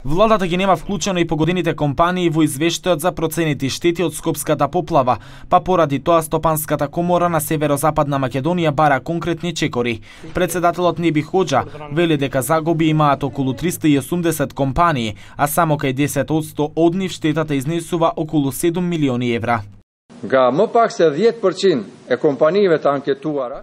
Владата ги нема вклучено и погодените компании во извештајот за проценети штети од Скопската поплава, па поради тоа Стопанската комора на Северозападна Македонија бара конкретни чекори. Председателот Неби Хоџа вели дека загуби имаат околу 380 компании, а само кај 10% од нив штетата изнесува околу 7 милиони евра.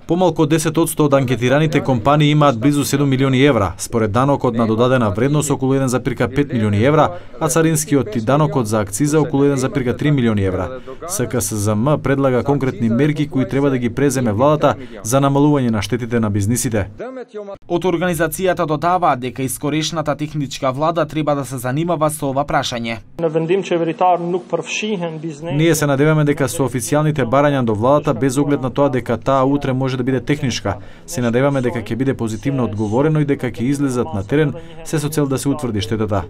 Помалку од 10% од анкетираните компании имаат близу 7 милиони евра, според данокот на додадена вредност околу 1,5 милиони евра, а царинскиот и данокот за акциза околу 1,3 милиони евра. СКСЗМ предлага конкретни мерки кои треба да ги преземе владата за намалување на штетите на бизнисите. Од организацијата додаваат дека искорешната техничка влада треба да се занимава со ова прашање. Ние се надеваме дека со официјалните барања до владата, без оглед на тоа дека таа утре може да биде техничка, се надеваме дека ќе биде позитивно одговорено и дека ќе излезат на терен се со цел да се утврди штетата.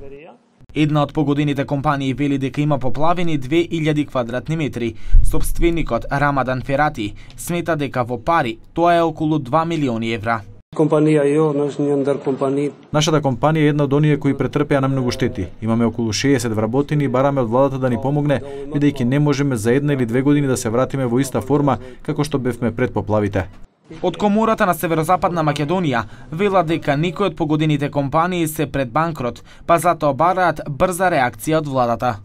Една од погодените компании вели дека има поплавени 2000 квадратни метри. Сопственикот Рамадан Ферати смета дека во пари тоа е околу 2 милиони евра. Нашата компанија е една од оние кои претрпеа најмногу штети. Имаме околу 60 вработени и бараме од владата да ни помогне, бидејќи не можеме за 1 или 2 години да се вратиме во иста форма како што бевме пред поплавите. Од Комората на Северозападна Македонија вела дека некои од погодените компании се пред банкрот, па затоа бараат брза реакција од владата.